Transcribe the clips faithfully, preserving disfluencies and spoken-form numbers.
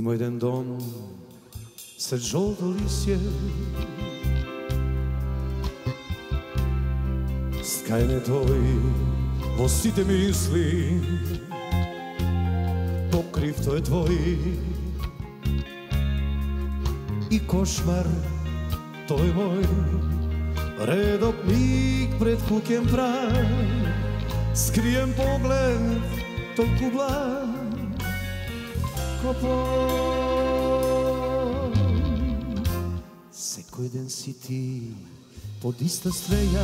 Има еден дом сред жолто лисје, скајне тој во сите мисли, покрив тој твој и кошмар тој мој, редок миг пред куќен праг, скриен поглед толку благ, копон. Секој ден си ти под иста стреја,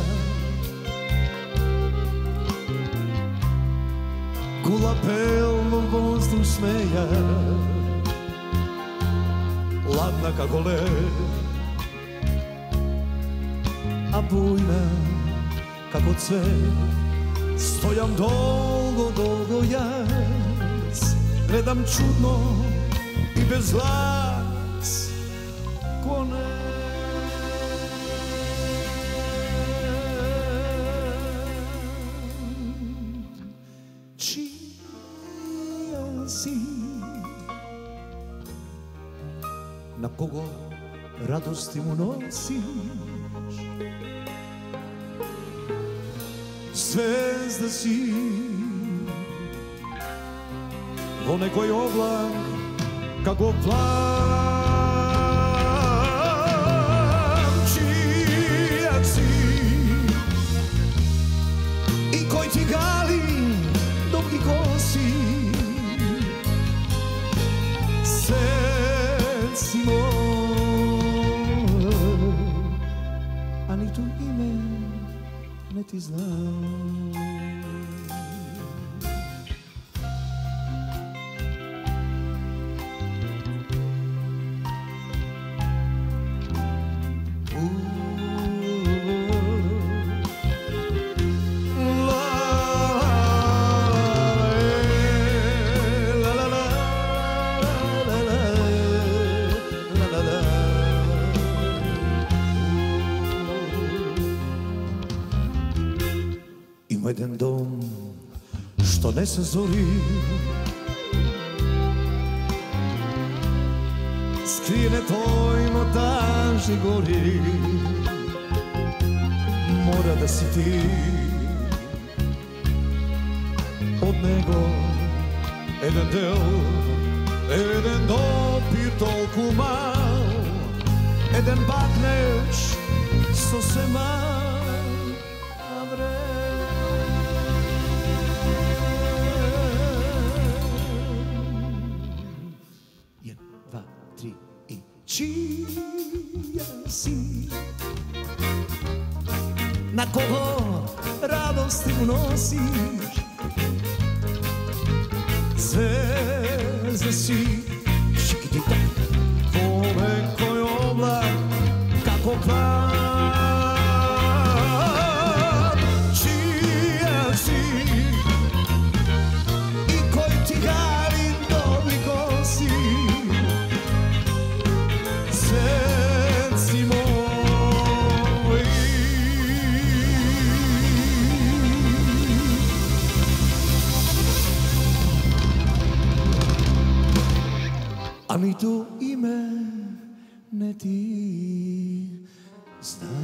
кула пел во воздух смеја, ладна како лед, а бујна како цвет. Стојам долго, долго јас, гледам чудно и без глас коне. Чија си? На кого радости му носиш? Звезда си во некој облак како план. Чија си? И кој ти гали долги коси? Свет си мој, а ниту име не ти знам. Има еден дом што не се зори, скриене тој но тажни гори, мора да си ти. Од него еден дел, еден допир толку мал, еден бакнеш сосема на време. Чија си? На кого радости му носиш? Звезда си, шикитита, во некој облак како план. Чија си? И кој ти гали долги коси? А ниту име не ти знам.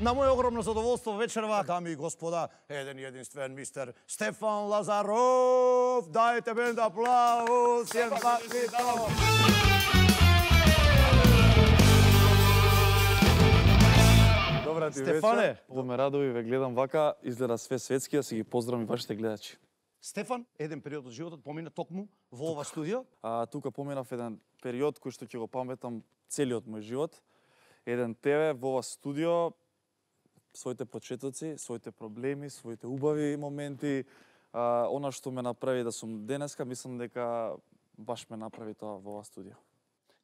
На моје огромно задоволство вечерва, дами и господа, еден единствен мистер Стефан Лазаров. Дајте бенд аплауз. Добра ти Стефане, вечер. Во ме радови ве гледам вака, изгледа све светски, а си ги поздравам и вашите гледачи. Стефан, еден период од животот помина токму во ова студио. А тука поминав еден период кој што ќе го паметам целиот мој живот. Еден тебе во ова студио, своите почетоци, своите проблеми, своите убави моменти, а, она што ме направи да сум денеска, мислам дека баш ме направи тоа во оваа студија.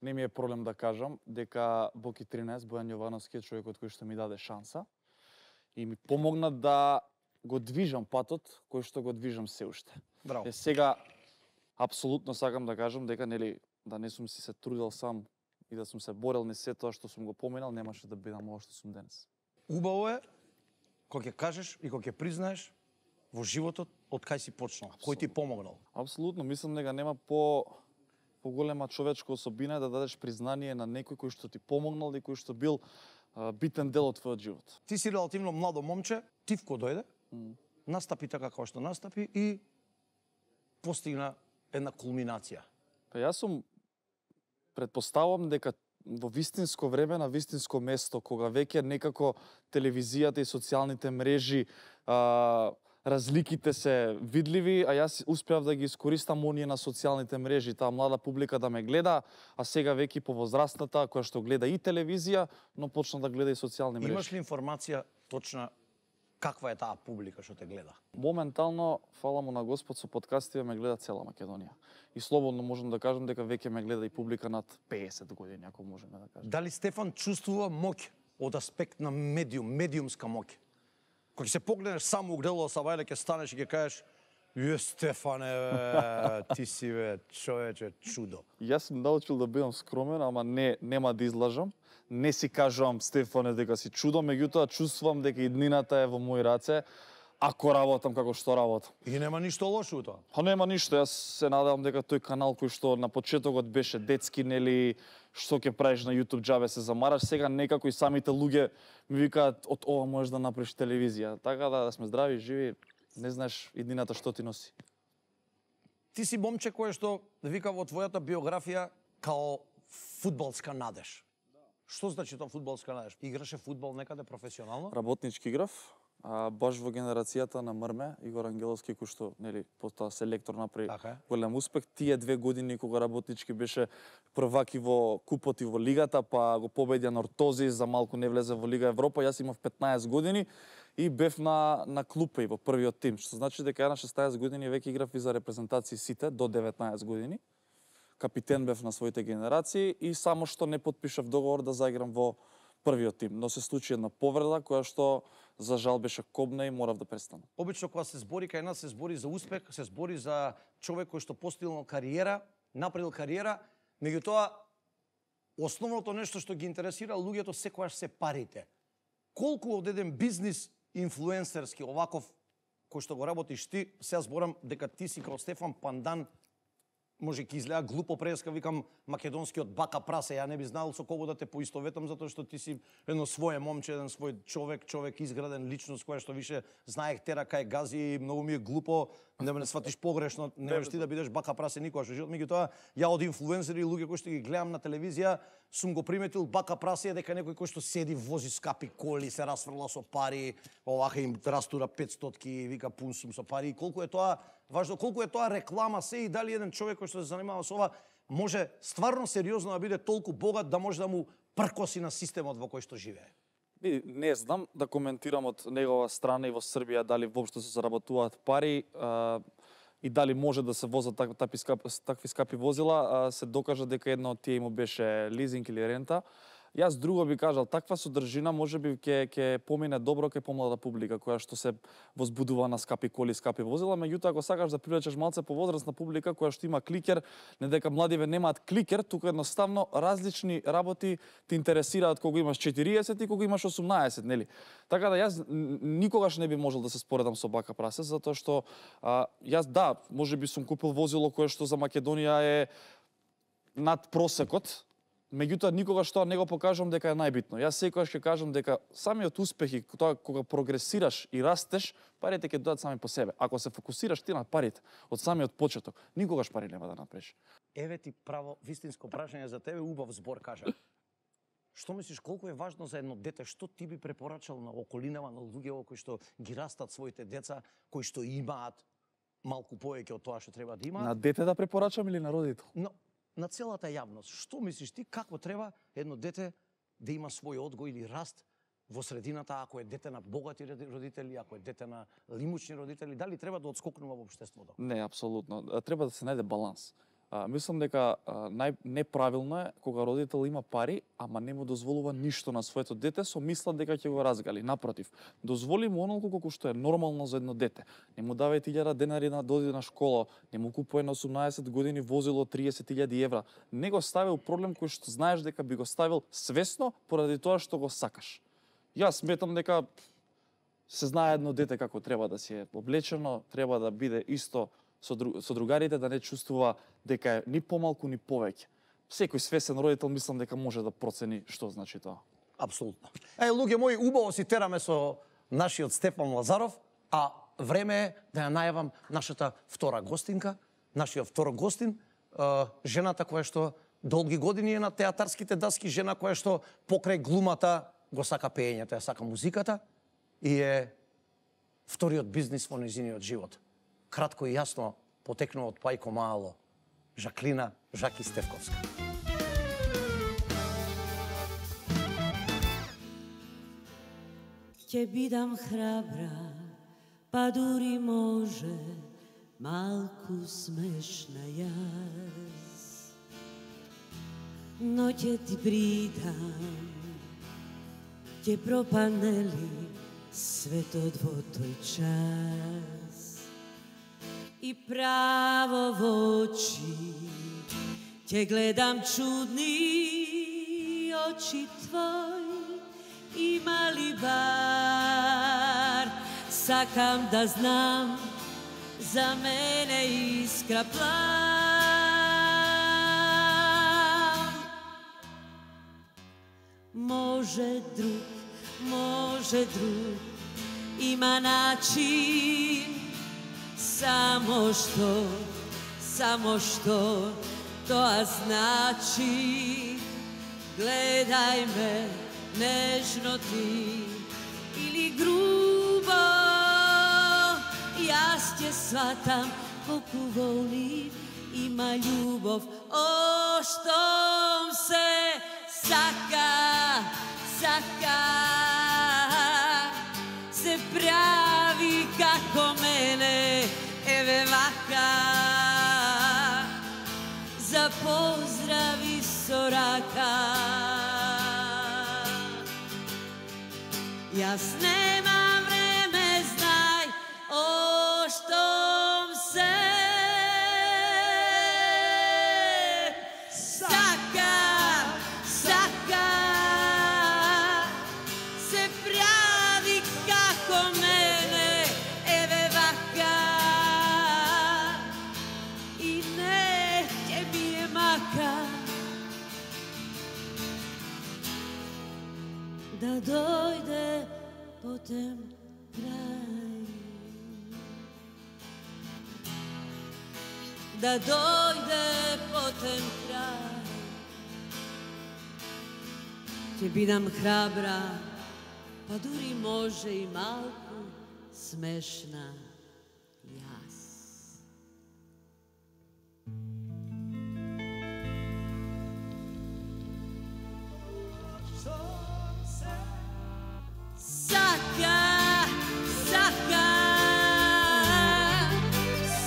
Не ми е проблем да кажам дека Боки тринаесет, Бојан Јовановски е човекот кој што ми даде шанса и ми помогна да го движам патот кој што го движам се уште. Браво. Е, сега апсолутно сакам да кажам дека нели да не сум си се трудел сам и да сум се борел не се тоа што сум го поминал, немаше да бидам ова што сум денес. Убаво е кога ќе кажеш и кога ќе признаеш во животот од кај си почнал, кој ти помогнал. Апсолутно, мислам дека нема по поголема човечка особина да дадеш признание на некој кој што ти помогнал и кој што бил а, битен дел од твојот живот. Ти си релативно младо момче, Тивко дојде, Mm. настапи така како што настапи и постигна една кулминација. Па јас сум претпоставувам дека во вистинско време, на вистинско место, кога веќе некако телевизијата и социјалните мрежи а, разликите се видливи, а јас успеав да ги искористам оние на социјалните мрежи, таа млада публика да ме гледа, а сега веќе повозрастната која што гледа и телевизија, но почна да гледа и социјални мрежи. Имаш ли информација точна каква е таа публика што те гледа? Моментално, фала му на Господ, со подкастите ме гледа цела Македонија. И слободно можам да кажам дека веќе ме гледа и публика над песет години, ако можеме да кажем. Дали Стефан чувствува моќ од аспект на медиум, медиумска моќ? Кога ќе се погледнеш само у грело са вајле, ќе станеш и ќе кажеш: "Је Стефане, бе, ти си бе човече чудо." Јас сум научил да бидам скромен, ама не нема да излажам. Не си кажувам, Стефане, дека си чудо, меѓутоа чувствувам дека иднината е во мои раце, ако работам како што работам. И нема ништо лошо у тоа. Па нема ништо, јас се надевам дека тој канал кој што на почетокот беше детски, нели, што ќе правиш на YouTube џабе се замараш, сега некако и самите луѓе ми викаат од ова можеш да направиш телевизија. Така да, да сме здрави, живи, не знаеш иднината што ти носи. Ти си момче кое што вика во твојата биографија као фудбалска надеж. Што значи тоа фудбалска надеж? Играше фудбал некаде професионално? Работнички играв, а баш во генерацијата на Мрме, Игор Ангеловски, кој што, нели, потоа селектор направи Така е. голем успех. Тие две години кога работнички беше првак и во купот и во лигата, па го победи Нортози, за малку не влезе во Лига Европа. Јас имав петнаесет години и бев на на клупа и во првиот тим, што значи дека ја на шеснаесет години веќе играв и за репрезентации сите до деветнаесет години. Капитен бев на своите генерации и само што не потпишав договор да заиграм во првиот тим, но се случи една повреда која што за жал беше кобна и морав да престанам. Обично кога се збори кај нас се збори за успех, се збори за човек кој што постигнал кариера, направил кариера, меѓутоа основното нешто што ги интересира луѓето секогаш се парите. Колку од еден бизнис инфлуенсерски оваков кој што го работиш ти, сега зборам дека ти си као Стефан Пандан, може ќе изгледа глупо преска, викам македонскиот бака прасе, ја не би знал со кого да те поистоветам, затоа што ти си едно свое момче, еден свој човек, човек изграден личност која што више знаех тера кај гази и многу ми е глупо да ме не сватиш погрешно, не можеш ти да бидеш бака прасе никогаш во живот. Меѓутоа, ја од инфлуенсери и луѓе кои што ги гледам на телевизија, сум го приметил бака прасе дека некој кој што седи вози скапи коли, се расфрла со пари, овака им растура петстотки, вика пун сум со пари. Колку е тоа важно, колку е тоа реклама се и дали еден човек кој што се занимава со ова може стварно сериозно да биде толку богат да може да му пркоси на системот во кој што живее. Би, не знам да коментирам од негова страна и во Србија дали воопшто се заработуваат пари а, и дали може да се возат так, такви, скапи, такви скапи возила, а, се докажа дека едно од тие му беше лизинг или рента. Јас друго би кажал, таква содржина можеби ќе ќе помине добро кај помлада публика која што се возбудува на скапи коли, скапи возила, меѓутоа ако сакаш да привлечеш малце повозрастна публика која што има кликер, не дека младиве немаат кликер, тука едноставно различни работи те интересираат кога имаш четириесет и кога имаш осумнаесет, нели? Така да јас никогаш не би можел да се споредам со бака прасе, затоа што а, јас да, можеби сум купил возило кое што за Македонија е над просекот. Меѓутоа никогаш тоа не го покажам дека е најбитно. Јас секогаш ќе кажам дека самиот успех и тоа кога прогресираш и растеш, парите ќе дојдат сами по себе. Ако се фокусираш ти на парите од самиот почеток, никогаш пари нема да направиш. Еве ти право вистинско прашање за тебе, убав збор кажа. Што мислиш колку е важно за едно дете, што ти би препорачал на околинава на луѓе кои што ги растат своите деца, кои што имаат малку повеќе од тоа што треба да имаат? На дете да препорачам или на родител? Но на целата јавност, што мислиш ти, како треба едно дете да има свој одгој или раст во средината, ако е дете на богати родители, ако е дете на лимучни родители, дали треба да одскокнува во општеството? Не, апсолутно. Треба да се најде баланс. А, мислам дека а, нај неправилно е кога родител има пари, ама не му дозволува ништо на своето дете со мисла дека ќе го разгали. Напротив, дозволи му онолку колку што е нормално за едно дете. Не му давај илјада денари на доди на школа, не му купува на осумнаесет години возило триесет илјади евра. Не го стави у проблем кој што знаеш дека би го ставил свесно поради тоа што го сакаш. Јас сметам дека се знае едно дете како треба да си е облечено, треба да биде исто со, дру... со другарите, да не чувствува дека е ни помалку ни повеќе. Секој свесен родител мислам дека може да процени што значи тоа. Апсолутно. Е, луѓе мои, убаво си тераме со нашиот Стефан Лазаров, а време е да ја најавам нашата втора гостинка, нашиот втор гостин, е, жената која што долги години е на театарските даски, жена која што покрај глумата го сака пеењето, ја сака музиката и е вториот бизнис во нејзиниот живот. Кратко и јасно потекнува од Пајко Мало, Жаклина Жаки Стевковска. Ќе бидам храбра, па дури може малку смешна јас, но ќе ти придам, ќе пропадне ли светот во тој час и право во очи ќе гледам чудни очи твои, има ли бар сакам да знам за мене искра план. Може друг, може друг, има начин, само што, само што тоа значи. Гледај ме нежно ти или грубо, јас ќе сватам колку волни има љубов. О, штом се сака, сака, се прави како мене, еве вака, за поздрави со рака. Јас немам време, знај, о, штом се да дојде потем крај, да дојде потем крај. Ќе бидам храбра, па дури може и малку смешна јас. Сака, сака,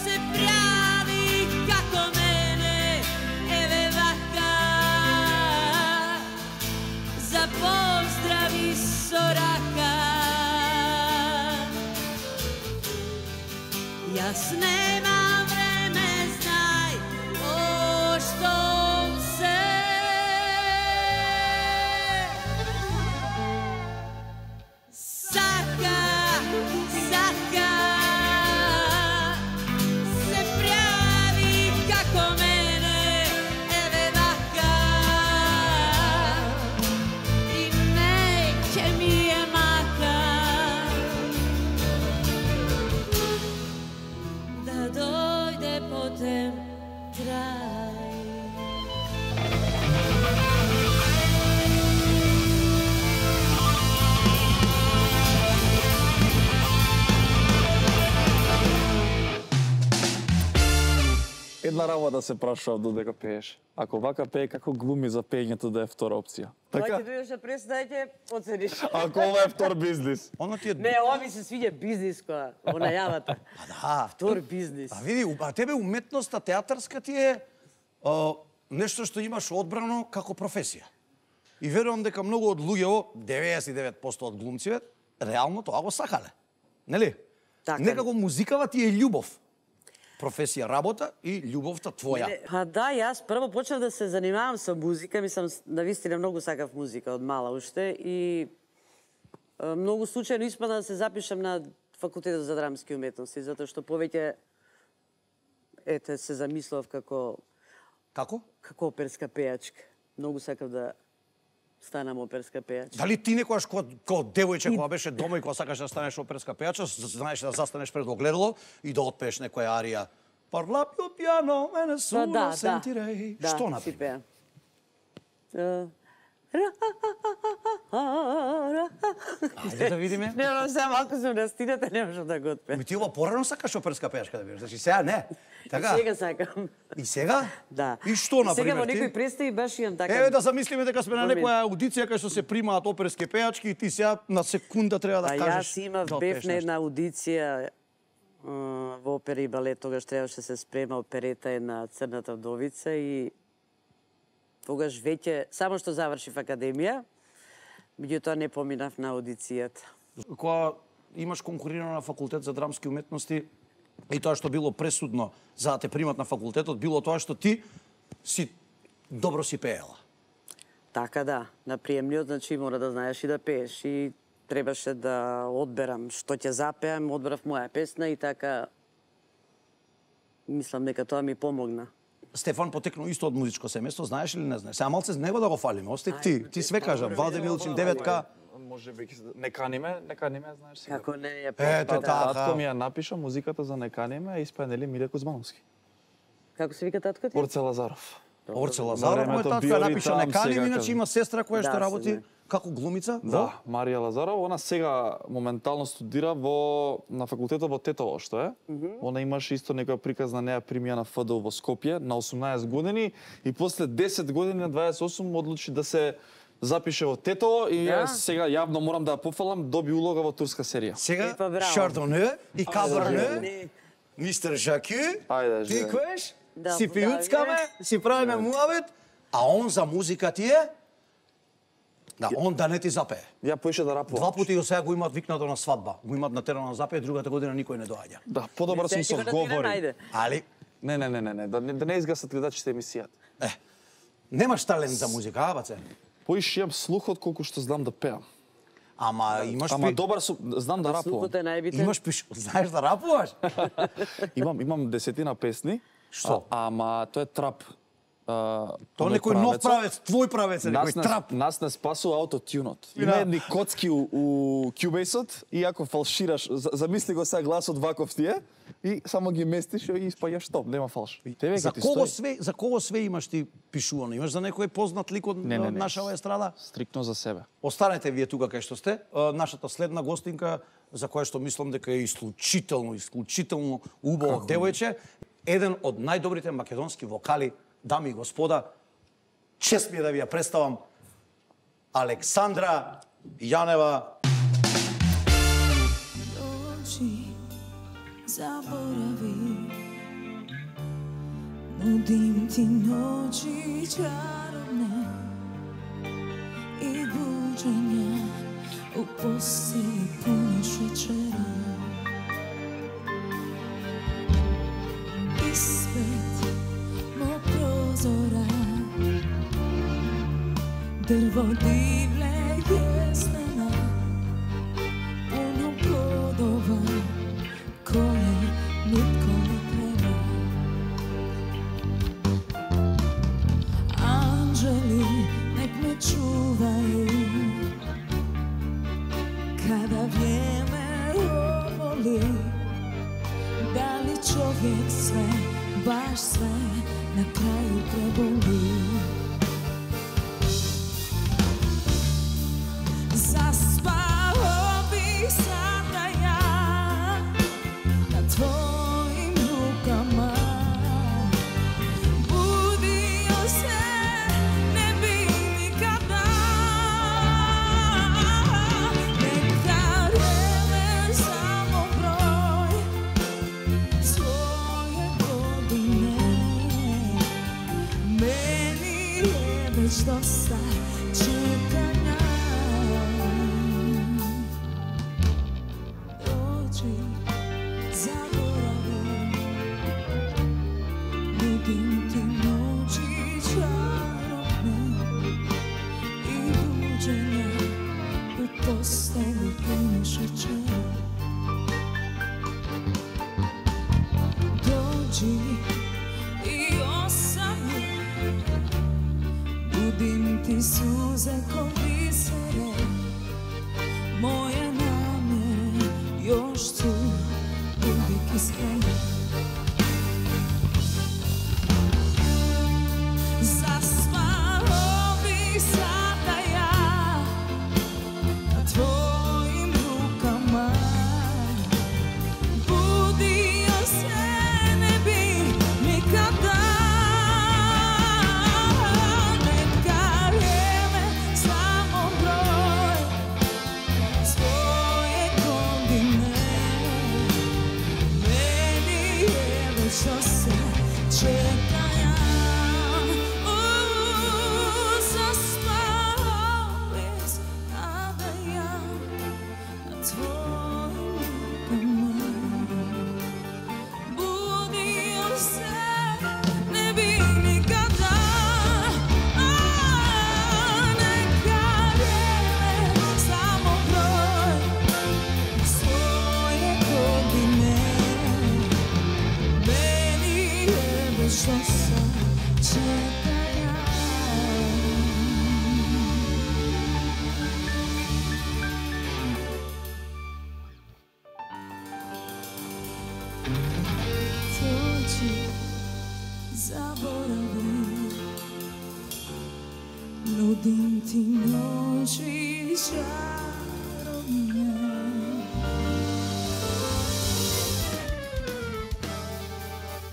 се прави како мене, еве вака, за поздрави со рака. Јас немам време, знај, о, штом се da една работа се прашував додека пееш. Ако вака пее, како глуми за пеењето да е втора опција? Така? Така? Ќе дојдеш да представите, оцениш. Ако ова е втор бизнис. Оно ти е... Не, ова ми се свиѓа бизнис која, во најавата. А да. Втор бизнис. А види, а тебе уметноста театарска ти е а, нешто што имаш одбрано како професија. И верувам дека многу од луѓето, деветдесет и девет проценти од глумците, реално тоа го сакале. Нели? Така. Некако музикава ти е љубов. Професија работа и љубовта твоја. Не, па да, јас прво почнав да се занимавам со музика, мислам, навистина многу сакав музика од мала уште и е, многу случајно испадна да се запишам на факултетот за драмски уметности, затоа што повеќе ете се замислав како Како? како оперска пејачка. Многу сакав да станам оперска пејачка. Дали ти некојаш кога, кога девојче кога беше дома и кога сакаш да станеш оперска пејачка, знаеш да застанеш пред огледало и да отпееш некоја арија? Парла пио пиано, мене Па суна да, сентирей. да, Што да, например? си пеам. Е, ра-ра-ра-ра-ра. Ајде да видиме. Не, но сега малку сум настината, не можам да го отпеам. Ми ти ова порано сакаш оперска пејачка да бидеш, значи сега не. Така? Сега сакам. И сега? Да. И што на Сега во пример некои ти? представи баш имам така. Еве да замислиме дека сме на Момент. некоја аудиција кај што се примаат оперски пејачки и ти сега на секунда треба да А кажеш. јас имав да бев отпееш на нешто. една аудиција а, во опера и балет, тогаш требаше се спрема оперета е на Црната вдовица и тогаш веќе само што завршив академија, меѓутоа не поминав на аудицијата. Кога имаш конкурирано на факултет за драмски уметности и тоа што било пресудно за да те примат на факултетот, било тоа што ти си добро си пеела. Така да, на приемниот, значи мора да знаеш и да пееш и требаше да одберам што ќе запеам, одбрав моја песна и така мислам дека тоа ми помогна. Стефан потекнал исто од музичко семејство, знаеш или не знаеш? Сега малце него да го фалиме, остек ти, ти све кажа, Владе Милчин, девет-ка. Може би не каниме, не каниме, знаеш си. Како не ја Ете, пееш? така. Татко ми ја напиша музиката за не каниме, а испаја нели Миле Кузмановски. Како се вика татко ти? Орце Лазаров. Орце Лазаров, мој времето татко био ја и напиша там, не каним, сега иначе кажам. има сестра која Да, што се работи знае. како глумица. Да, во? Марија Лазарова, она сега моментално студира во на факултетот во Тетово, што е. Mm -hmm. Она имаше исто некоја приказна неа примија на ФДУ во Скопје на осумнаесет години и после десет години на дваесет и осум одлучи да се запише во Тетово и Да. јас сега јавно морам да ја пофалам, доби улога во турска серија. Сега Е, па, браво. Шардоне и Каберне, Не. мистер Жаки, Ајде, ти живе. коеш? Да, Си да, пиуцкаме, си правиме муавет, а он за музика ти е? Да, он да не ти запее. Ја поише да рапувам. Два пати го сега го имаат викнато на свадба. Го имаат на терена на запее, другата година никој не доаѓа. Да, подобар сум со говори. Ајде. Али, Не, не, не, не, не, да не, да не изгасат гледачите емисијата. е, немаш талент за музика, а, баце? Поише имам слухот колку што знам да пеам. Ама имаш Ама пи... добар сум, знам да рапувам. Слухот е најбитен. Имаш пиш... Знаеш да рапуваш? Имам имам десетина песни. Што? А, ама тоа е трап. А, Тоа оној некој нов правецот. правец, твој правец е, Нас некој не, трап. нас не спасува аутотюнот. Да. Има едни коцки у, у Cubase-от и ако фалшираш, за- замисли го сега гласот ваков ти е и само ги местиш и испаѓаш топ, нема фалш. Тебе За ќе ти кого стои све, за кого све имаш ти пишувано? Имаш за некој познат лик од Не, не, не. нашава естрада? стрикно за себе. Останете вие тука кај што сте. А, Нашата следна гостинка, за која што мислам дека е исклучително, исклучително убаво девојче, еден од најдобрите македонски вокали, дами и господа, чест ми е да ви ја представам, Александра Јанева. Dođi, zaboravi, nudim ti noći čarobne i buđenja u postelji puni šećera. Ispred mog prozora drvo divlje jesmena, puno plodova koje nitko ne treba. Anđeli nek me čuvaju kada vrijeme ovoli. Da li čovjek sve, baš sve na kraju preboli? Zaspao bih sada ja na tvojim rukama стегнато мишече. Доđi i osami, budim ti suze ko bisere, moje namjere još su uvijek iskrene. Zaspao bi sada ja na tvojim rukama, budio se ne bi nikada. Neka vrijeme samo broj svoje godine, meni je već što se čeka. Nudim ti noći čarobne.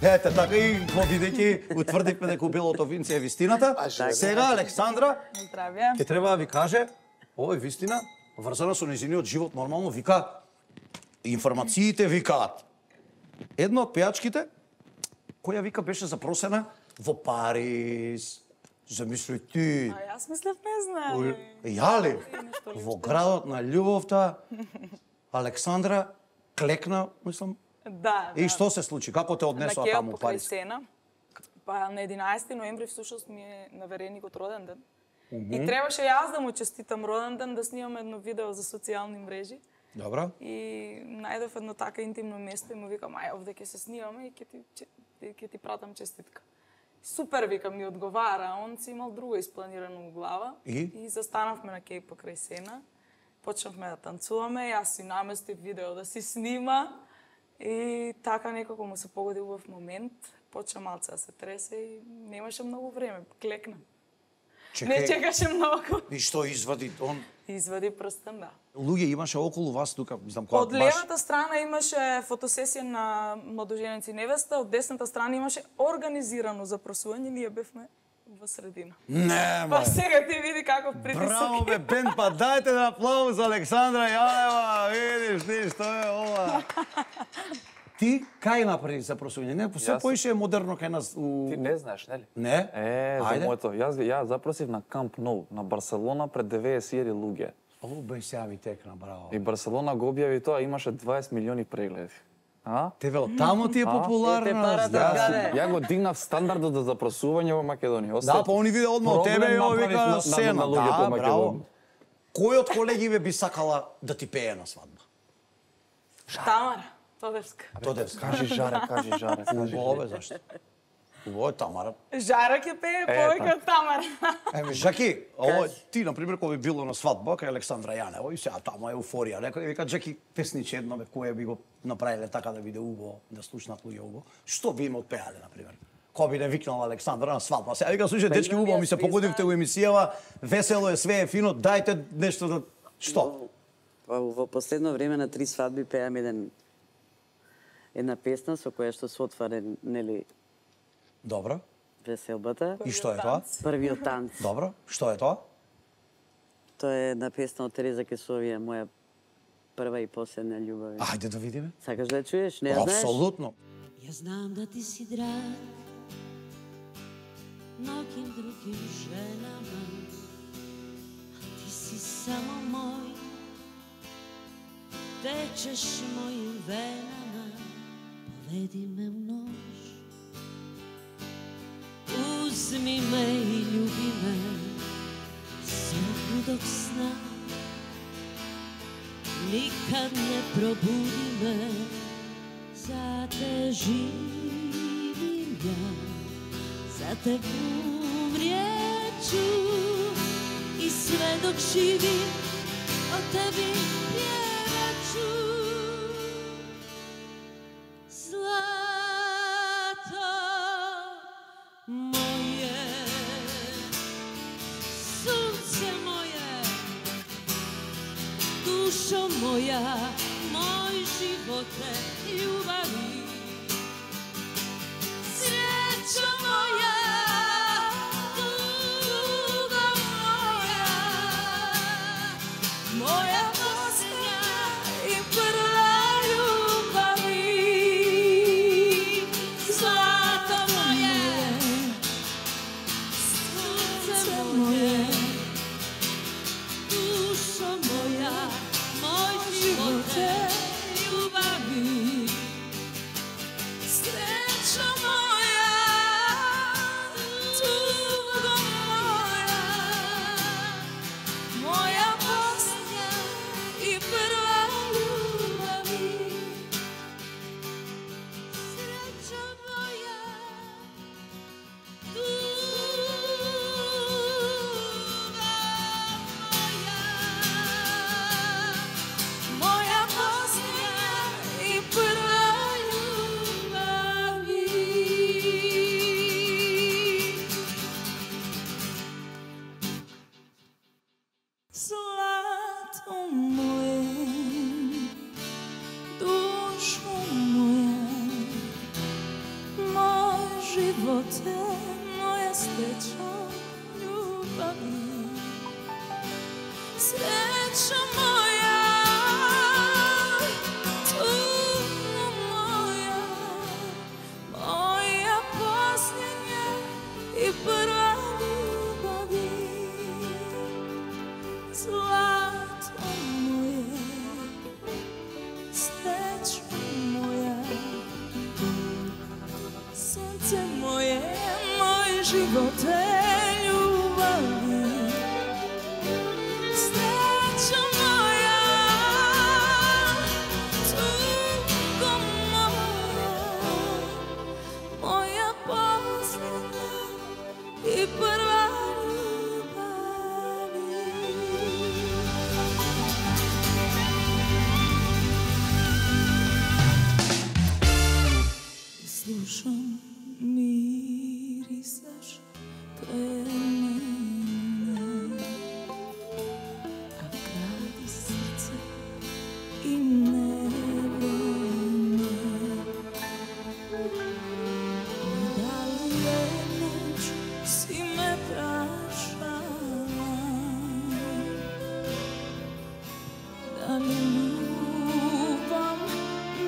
Ете, така и бидејќи утврдивме дека убилото винце е вистината. Сега Александра Здравје. ќе треба да ви каже, ова е вистина, врзана со нејзиниот живот, нормално вика информациите викаат. Една од пејачките која вика беше запросена во Париз. Замисли ти. А јас мислев не знае. Ја ли? Во градот на љубовта Александра клекна, мислам. Да, И да. што се случи? Како те однесоа На таму Кео у покрај Париз? Сена. Па на единаесети ноември всушност ми е навереникот роден ден. И требаше јас да му честитам роден ден, да снимам едно видео за социјални мрежи. Добро. И најдов едно така интимно место и му викам, ај, овде ќе се снимаме и ќе ти, ќе ти пратам честитка. Супер, викам, ми одговара, он си имал друго испланирано у глава. И? И застанавме на Кеј покрај Сена. Почнавме да танцуваме, јас си наместив видео да си снима. И така некако му се погоди убав момент. Почна малце да се тресе и немаше многу време, клекна. Не чекаше многу. И што извади он? Извади прстен, да. Луѓе имаше околу вас тука, мислам, која Од левата страна имаше фотосесија на младоженец и невеста, од десната страна имаше организирано запросување, ние бевме во средина. Не, Па ма. сега ти види каков притисок. Браво, бе, бен, па дајте на аплауз Александра Јанева, видиш ти што е ова. Ти кај направи запросување? Не, се Јас- поише модерно кај нас у... Ти не знаеш, нели? Не? Е, за Ајде. моето. Јас ја запросив на Камп Ноу, на Барселона пред деветдесет илјади луѓе. О, бе, сега ми текна, браво. И Барселона го објави тоа, имаше дваесет милиони прегледи. А? Те вел, таму ти е А? популарна. Те парата да. каде? Ја го дигнав стандардот за запросување во Македонија. Да, па они виде одма од Проблем тебе и ово направив вика на- на на- сцена. на луѓето Да, во браво. Македонија. Кој од колегиве би сакала да ти пее на свадба? Тамара Тодевска. Тодевска. Кажи жаре, кажи жаре, кажи. Убаво, бе, зашто? Убаво е Тамара. Жара ќе пее повеќе од Тамара. Еми, Жаки, ово ти, например, кој би било на свадба кај Александра Јанева и сега таму е еуфорија. Некој вика, Жаки, песниче едно, бе, кој би го направиле така да биде убаво, да слушнат луѓе убаво. Што би им отпеале, например? Кој би не викнал Александра на свадба? Сега вика, слушај, дечки, убаво ми се погодивте у емисијава, весело е, све е фино, дајте нешто да... Што? Во, во последно време на три свадби пеам еден една песна со која што се отваре, нели, Добро. веселбата. И што е тоа? Првиот танц. Добро. Што е тоа? Тоа е една песна од Тереза Кесовија, моја прва и последна љубов. Ајде да видиме. Сакаш да ја чуеш? Не ја знаеш? Апсолутно. Ja znam da ti si drag mnogim drugim ženama, a ti si samo moj, tečeš mojim venama, povedi me u noć, uzmi me i ljubi me sve dok sna, Nikad ne probudi me, za te živim ja, za te umrijeću i sve dok živim o tebi pjevaću. Zlato moje, sunce moje, dušo moja, moj živote, ljubavi, srećo moja, tugo moja, moja posljednja i prva ljubavi. Zlato moje, sunce moje, dušo moja, moj živote, ljubavi, srećo moja, tugo moja, moja posljednja i prva ljubavi. Srećo moja, moja posljednja i prva ljubavi. Zlato moje, dušo moja, moj živote, moja srećo, ljubavi, srećo moja, tugo moja, moja posljednja i prva ljubavi. Zlato moje, srećo moja, sunce moje, moj živote, ljubavi, srećo moja, tugo moja, moja posljednja i prva ljubavi. Slušam, mirisaš pre mene, a gradi srce i nevreme. Da li je noć si me prašala, da li ljubam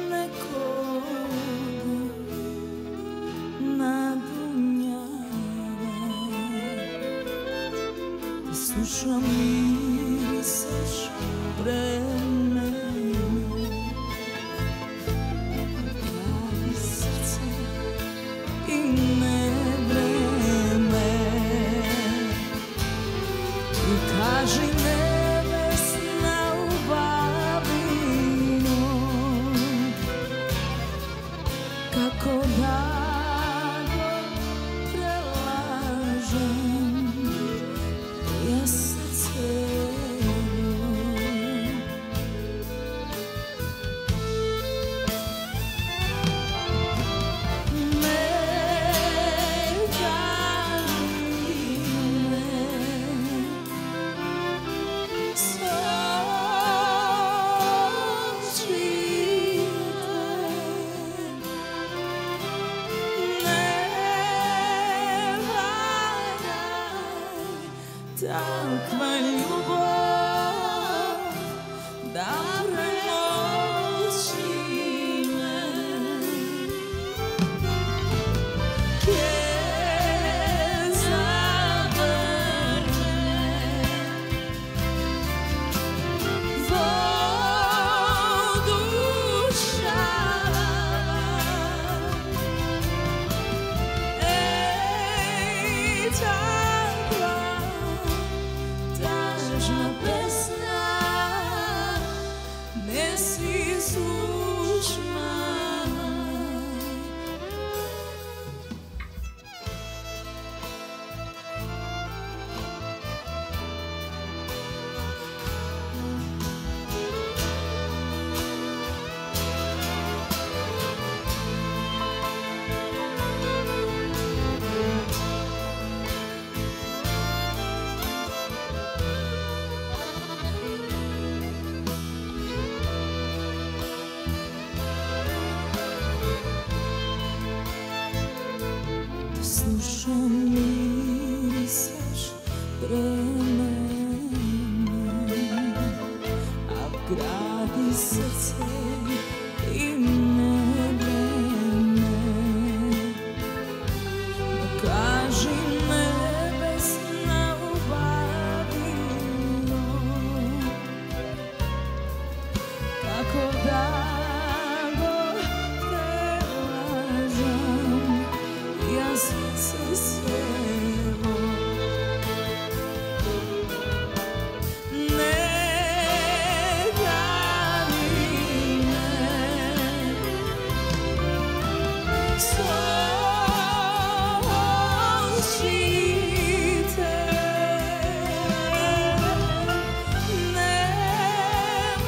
nekoga na dunjavi. Slušam, mirisaš pre mene, gradi srce i nevreme. I kaži nebesna ljubavino, kako da go prelažem ja srce. Takva ljubav da premoći me, ke zavrne voduša. Ej, takva, takva си слушна. Слушам мирисаш време, а вгради срце им не време. Кажи небесна убавино, како да го прелажам јас се сево. Не гани ме со очите, не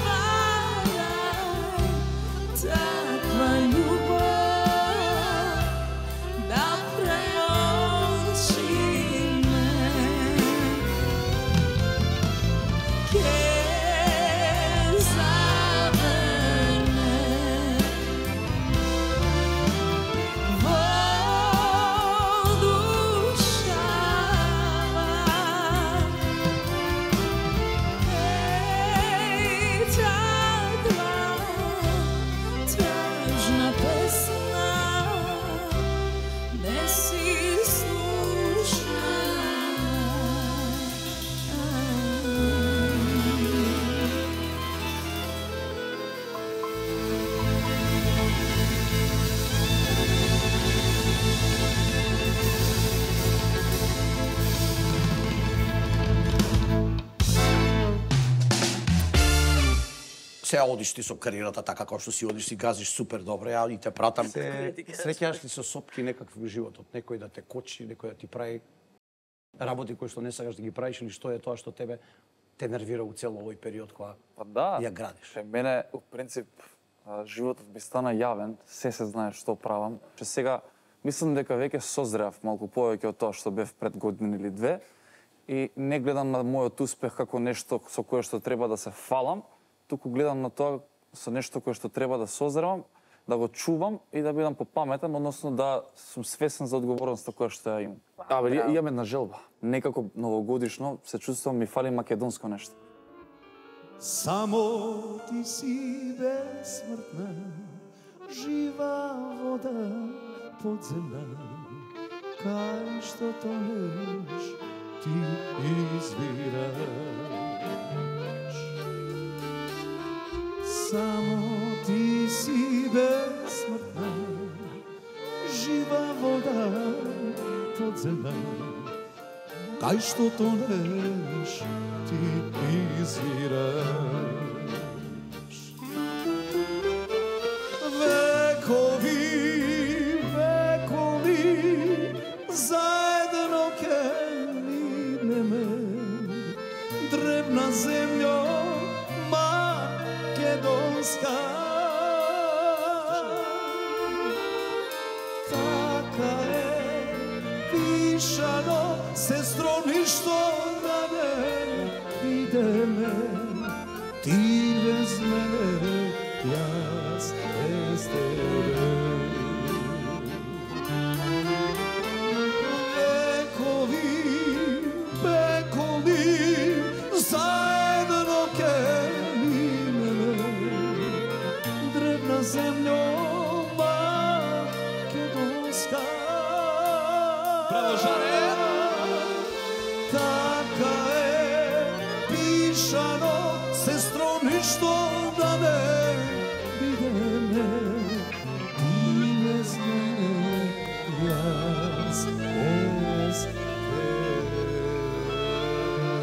ваѓај таква љубов да премолчи ме. Ке заврне во душава. Еј, таква тажна песна не си слушна. Сега одиш ти со кариерата така како што си одиш, си газиш супер добро, ја и те пратам. Се среќаш ли со сопки некакви во животот, некој да те кочи, некој да ти прави работи кои што не сакаш да ги правиш, или што е тоа што тебе те нервира у цел овој период кога Па да, ја градиш? Е, мене, у принцип, а, животот ми стана јавен, се се знае што правам. Че сега, мислам дека веќе созреав малку повеќе од тоа што бев пред година или две и не гледам на мојот успех како нешто со кое што треба да се фалам, туку гледам на тоа со нешто кое што треба да созревам, да го чувам и да бидам попаметен, односно да сум свесен за одговорноста која што ја имам. Абе, ја- имам една желба. Некако новогодишно се чувствувам ми фали македонско нешто. Само ти си безсмртна, жива вода подземна, кај што тонеш ти извираш. Само ти си безсмртна, жива вода подземна, кај што тонеш ти извираш. Векови, векови, заедно ке минеме, древна земјо македонска. Така е пишано, сестро, ништо да не видиме, ти без мене, јас без тебе. Векови, векови, заедно ке минеме, древна земјо македонска. Браво, Жаре! Така е пишано, сестро, ништо да не видиме, ти без мене, јас без тебе.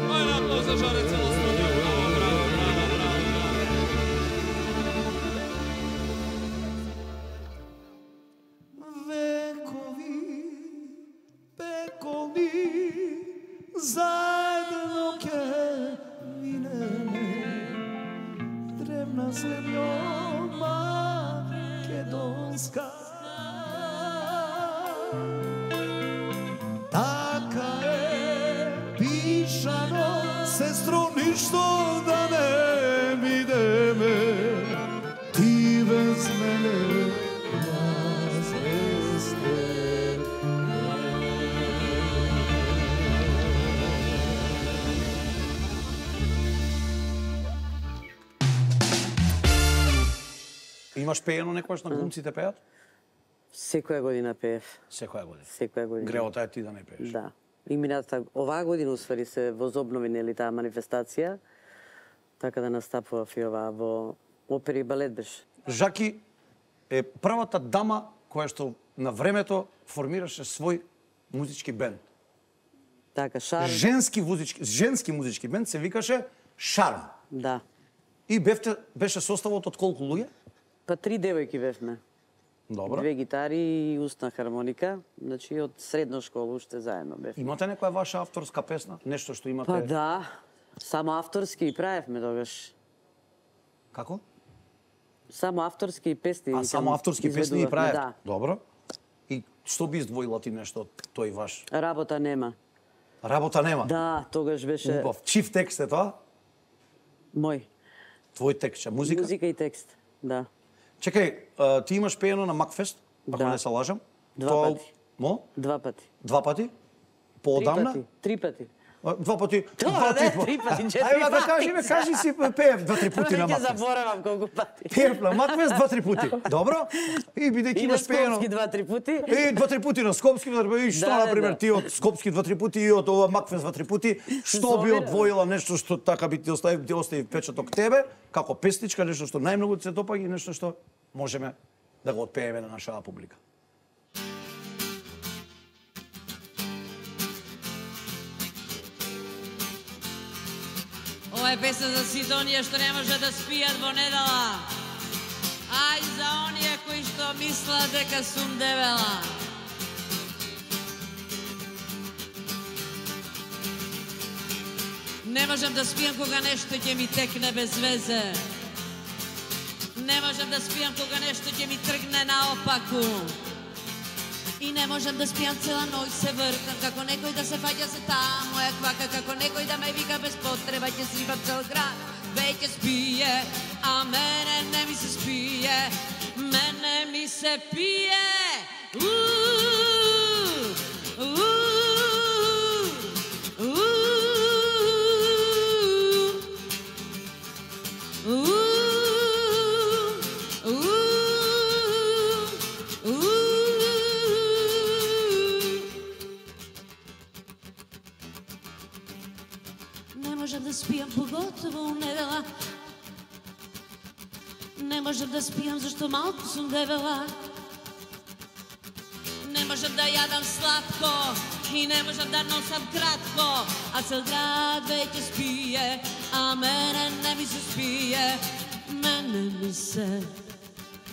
Ајде, аплауз за Жаре, цело студио, браво, браво, браво, браво, браво. Земна земјо македонска. Така е пишано, сестро, ништо да не бидеме, ти без мене на звезде. Имаш пеено некојаш на глумците пеат? Секоја година пеев. Секоја година. Секоја година. Греота е ти да не пееш. Да. И мината оваа година усвари се возобнови нели таа манифестација, така да настапував и оваа во опери и балет беше. Жаки е првата дама која што на времето формираше свој музички бенд. Така, Шарм. Женски музички, женски музички бенд се викаше Шарм. Да. И бевте, беше составот од колку луѓе? Па три девојки бевме. Добро. Две гитари и устна хармоника, значи од средна школа уште заедно бевме. Имате некоја ваша авторска песна? Нешто што имате? Па да, само авторски и правевме тогаш. Како? Само авторски песни. А само авторски песни и изведувавме, правев? Да. Добро. И што би издвоила ти нешто од тој ваш? Работа нема. Работа нема? Да, тогаш беше Убав. Чив текст е тоа? мој. Твој текст, че? Музика? Музика и текст, да. Чекај, а, ти имаш пеено на Макфест, ако Да. не се лажам? Два Тоа- пати. Мо? Два пати. Два пати? Три Поодамна? пати. Три пати. А, Два пати. Тоа Два, не, по- три пати, четири Ајде да пати. кажи, бе, кажи си пеев два-три пути на Веќе Макфест. заборавам колку пати. Пеев на Макфест два-три пути. Добро? И бидејќи И на имаш пеено. Скопски два-три пути. И два-три пути на Скопски, и што, Да, да, например, да. ти од Скопски два-три пути и од ова Макфест два-три пути, што би Зомира. одвоила нешто што така би ти остави, ти остави печаток тебе, како песничка, нешто што најмногу ти се допаѓа и нешто што можеме да го отпееме на нашата публика. Ова е песна за сите оние што не може да спијат во недела. А и за оние кои што мислат дека сум дебела. Не можам да спијам кога нешто ќе ми текне без везе. Не можам да спијам кога нешто ќе ми тргне наопаку. И не можам да спијам цела ноќ, се вртам како некој да се фаќа се таа моја квака, како некој да ме вика без потреба, ќе срипам цел град. Веќе спие, а мене не ми се спие, мене ми се пие. Уу, уу, уу, уу. Не можам да спијам, поготово у недела. Не можам да спијам, зашто малку сум дебела. Не можам да јадам сладко и не можам да носам кратко, а цел град веќе спие, а мене не ми се спие. Мене ми се,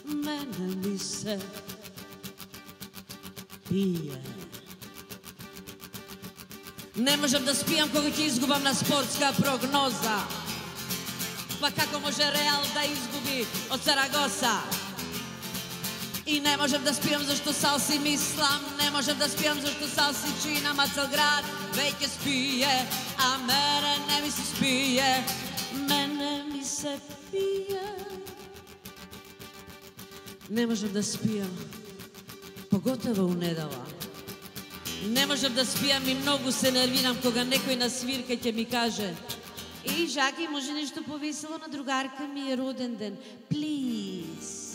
мене ми се пие. Не можам да спијам кога ќе изгубам на спортска прогноза. Па како може Реал да изгуби од Сарагоса? И не можам да спијам зашто сал си мислам, не можам да спијам зашто сал си чинам, а цел град веќе спие, а мене не ми се спие, мене ми се пие. Не можам да спијам, поготово у недела. Не можам да спијам и многу се нервирам кога некој на свирка ќе ми каже: "Еј, Жаки, може нешто повесело, на другарка ми е роден ден. Плиз."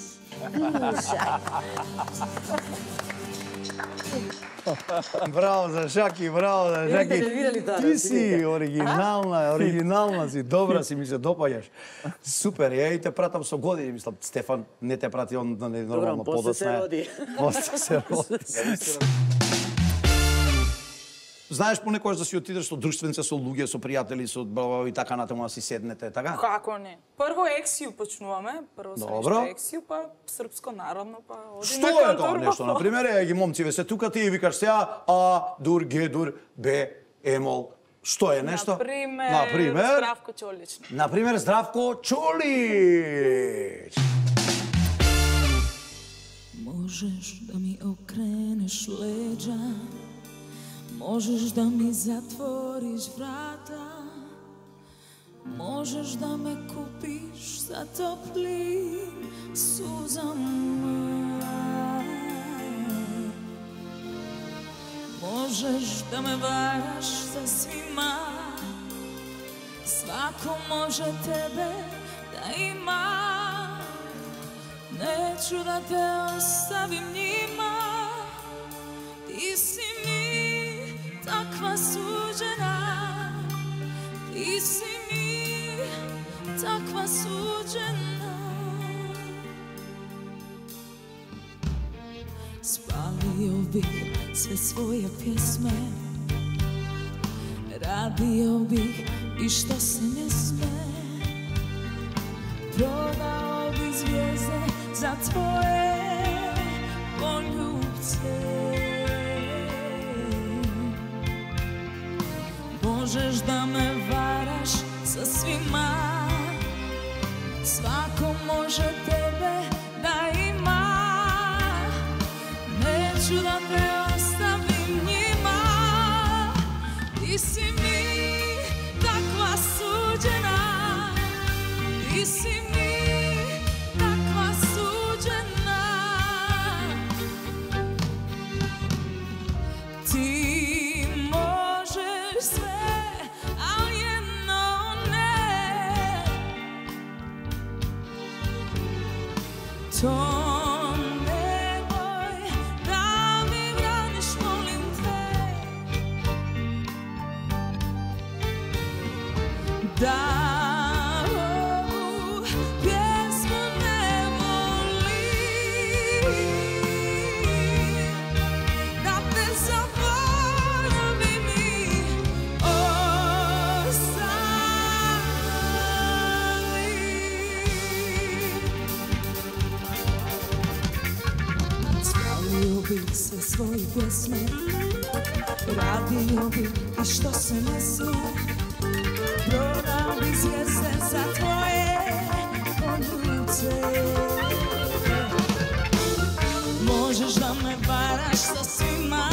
Браво за Жаки, браво за Имате Жаки. нервирали тоа, Ти да, си видите? оригинална, оригинална си, добра си, ми се допаѓаш. Супер, ја и те пратам со години, мислам, Стефан не те прати, он не нормално после подоцна. се роди. После се роди. Знаеш понекогаш да си отидеш со друштвенце, со луѓе, со пријатели, со бла и така натаму да си седнете, така? Како не? Прво ексију почнуваме, прво со Добро. нешто ексију, па српско народно, па одиме Што кон е тоа турбо. нешто? Например, е ги момциве се тука, ти викаш сега А, дур, Г, дур, Б, емол, Што е нешто? Например, Например, Здравко Чолич. Например, Здравко Чолич. Можеш да ми окренеш леđa, можеш да ми затвориш врата, можеш да ме купиш за топли сузама. Можеш да ме вараш за свима, свако може тебе да има. Neću da te ostavim njima, ti si mi takva suđena, ti si mi takva suđena. Spalio bih sve svoje pjesme, radio bih i što se ne sme, prodao bih zvijezde za tvoje poljubce. Možeš da me varaš sa svima, svako može tebe da ima. Neću da te ostavim njima, ti si mi takva suđena, ti si mi to nemoj da mi braniš, molim te, da ovu pjesmu ne volim, da te zaboravim i ostavim. Radio bih sve svoje pjesme, radio bih i što se ne smije, prodao bih zvijezde za tvoje poljubce. Možeš da me varaš sa svima,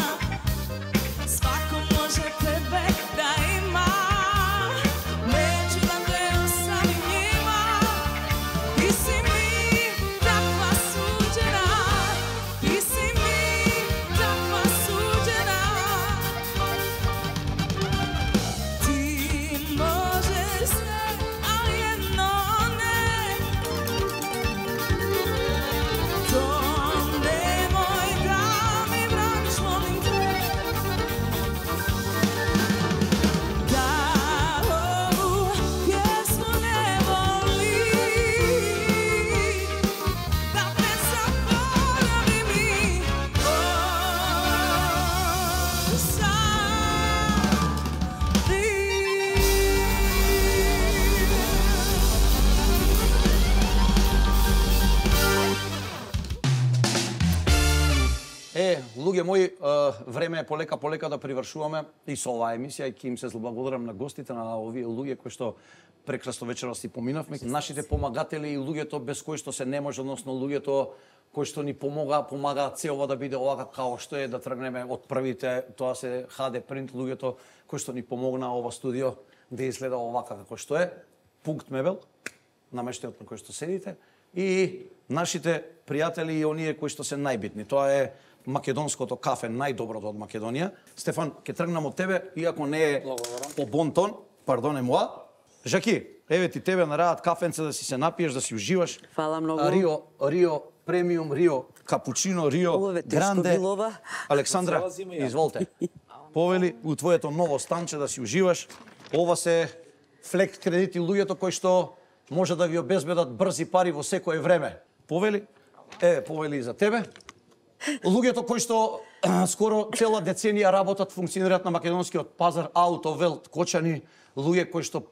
svako može tebe da ima. Neću da te ostavim njima, ti si mi takva suđena, ti si mi takva suđena. Ti možeš sve, ali jedno ne. To nemoj da mi braniš, molim te, da ovu pjesmu ne volim, da te zaboravim i Е, луѓе мои, е, време е полека полека да привршуваме и со оваа емисија и ќе им се благодарам на гостите, на овие луѓе кои што прекрасно вечерос си поминавме, нашите помагатели и луѓето без кои што се не може, односно луѓето кои што ни помога, помагаат се ова да биде овака као што е, да тргнеме од првите, тоа се ха де Print, луѓето кои што ни помогнаа ова студио да изгледа овака како што е, Пункт мебел, намештајот на кој што седите, и нашите пријатели и оние кои што се најбитни. Тоа е македонското кафе, најдоброто од Македонија. Стефан, ќе тргнам од тебе, иако не е по бон тон, пардоне моа. Жаки, еве ти тебе нарадат кафенце да си се напиеш, да си уживаш. Фала многу. Рио, Рио премиум, Рио капучино, Рио Ове тешко гранде. било ова. Александра, изволте. Повели у твоето ново станче да си уживаш. Ова се флект кредити луѓето кои што може да ви обезбедат брзи пари во секое време. Повели? Е, повели и за тебе. Луѓето кои што скоро цела деценија работат, функционираат на македонскиот пазар, Аутовелт, Кочани, луѓе кои што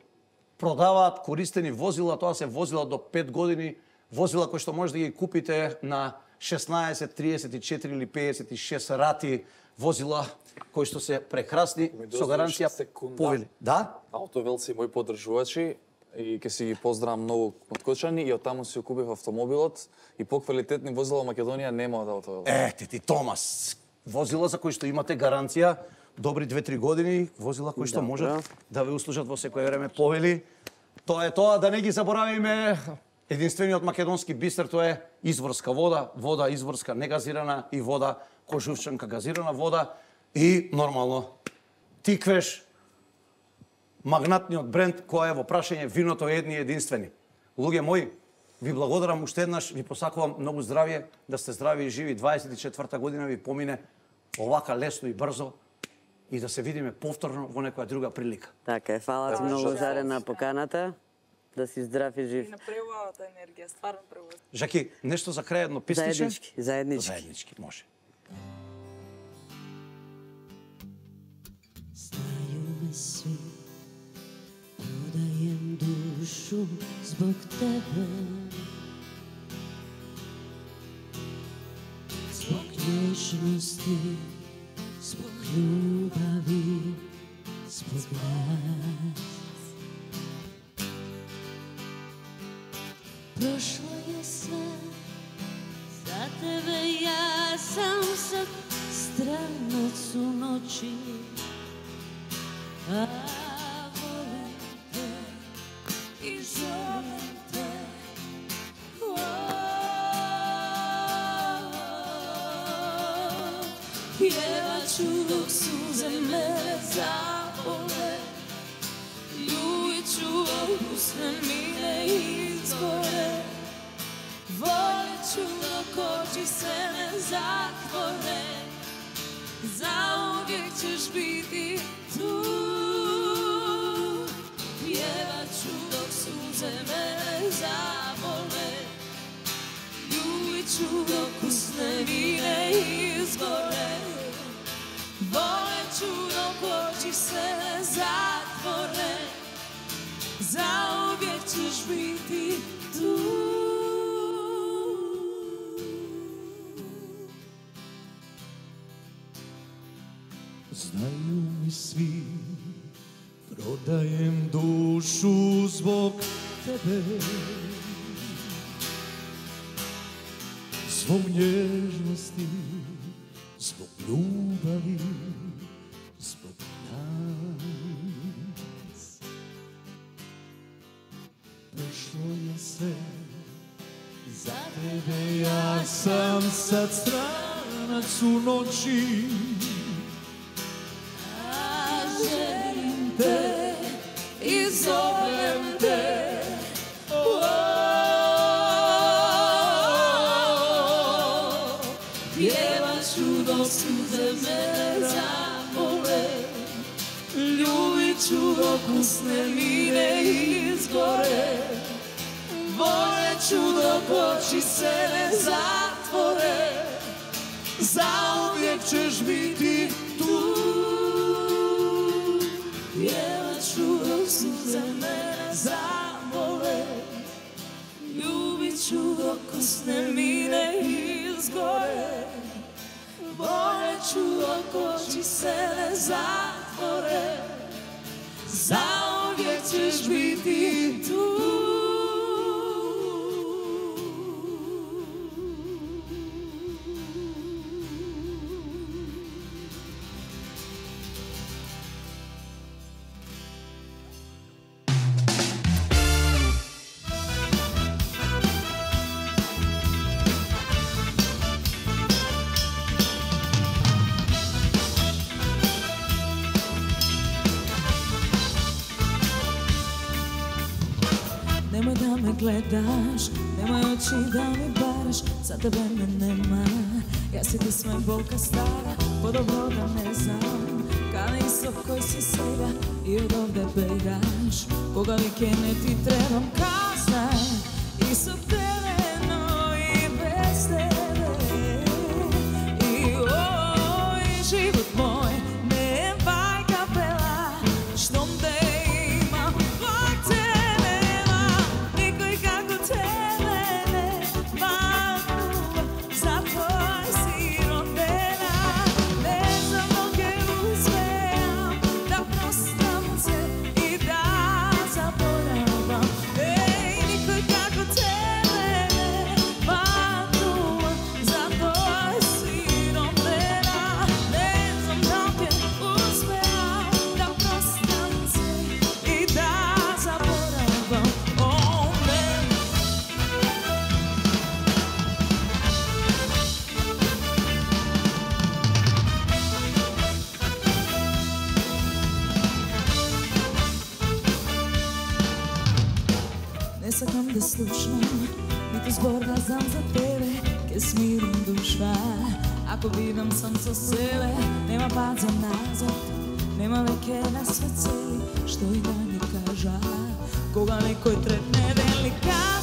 продаваат користени возила, тоа се возила до пет години, возила кои што може да ги купите на шеснаесет, триесет и четири или пеесет и шест рати возила кои што се прекрасни со гаранција повели. Да? Автовел си мои поддржувачи и ќе си ги поздравам многу од Кочани и оттаму си купив автомобилот и поквалитетни возила во Македонија нема од Автовел. Ете ти, Томас, возила за кои што имате гаранција, добри две-три години, возила кои што можат да ве услужат во секое време повели. Тоа е тоа, да не ги заборавиме. Единствениот македонски бистер тоа е изворска вода, вода изворска негазирана и вода кожувчанка газирана вода и нормално тиквеш магнатниот бренд кој е во прашање виното е едни и единствени. Луѓе мои, ви благодарам уште еднаш, ви посакувам многу здравје, да сте здрави и живи, дваесет и четврта година ви помине овака лесно и брзо и да се видиме повторно во некоја друга прилика. Така е, фала ти многу Заре на поканата. Да си здрав и жив. И на преубавата енергија, стварно преубава. Жаки, нешто за крај едно писниче? Заеднички, заеднички. Заеднички, може. Знаю сви, продаjem душу zbog tebe, zbog nježnosti, zbog ljubavi, zbog nas. Prošlo je sve, za tebe ja sam sad stranac u noći, a volim te i zovem te. Pjevat ću dok suze mene zabole, ljubit ću dok usne mine izgore, volit ću dok oči se ne zatvore, zauvijek ćeš biti tu. Pjevat ću dok suze mene zabole, ljubit ću dok usne mine izgore, volit ću dok oči se ne zatvore, zauvijek ćeš biti tu. Znaju mi svi, prodajem dušu zbog tebe, zbog nježnosti, zbog ljubavi, zbog nas. Prošlo je sve, za tebe ja sam sad stranac u noći, Želim te i zovem te. Pjevat ću dok suze mene zabole, ljubit ću dok usne mine izgore, volit ću dok oči se ne zatvore, zauvijek ćeš biti tu. Pjevat ću dok suze mene zabole, ljubit ću dok usne mine izgore, volit ću dok oči se ne zatvore, zauvijek ćeš biti tu. Nemoj da me gledaš, nemoj oči da mi baraš, za tebe me nema. Ja si ti sve bolka stara, podobno da ne znam, kao isok koji si sega i od ovde begaš. Koga vikene ti trebam kazna, isok tereno i bez tebe. I oj, život moj, ne vaj kapela, što te ima, vaj te nema, nikoj kako tebe ne, vaj почнам, ниту збор да знам за тебе, ке смирим душа. Ако бидам сам со себе, нема пат за назад, нема веќе на свет цели, што и да ми кажа, кога некој третне деликатно.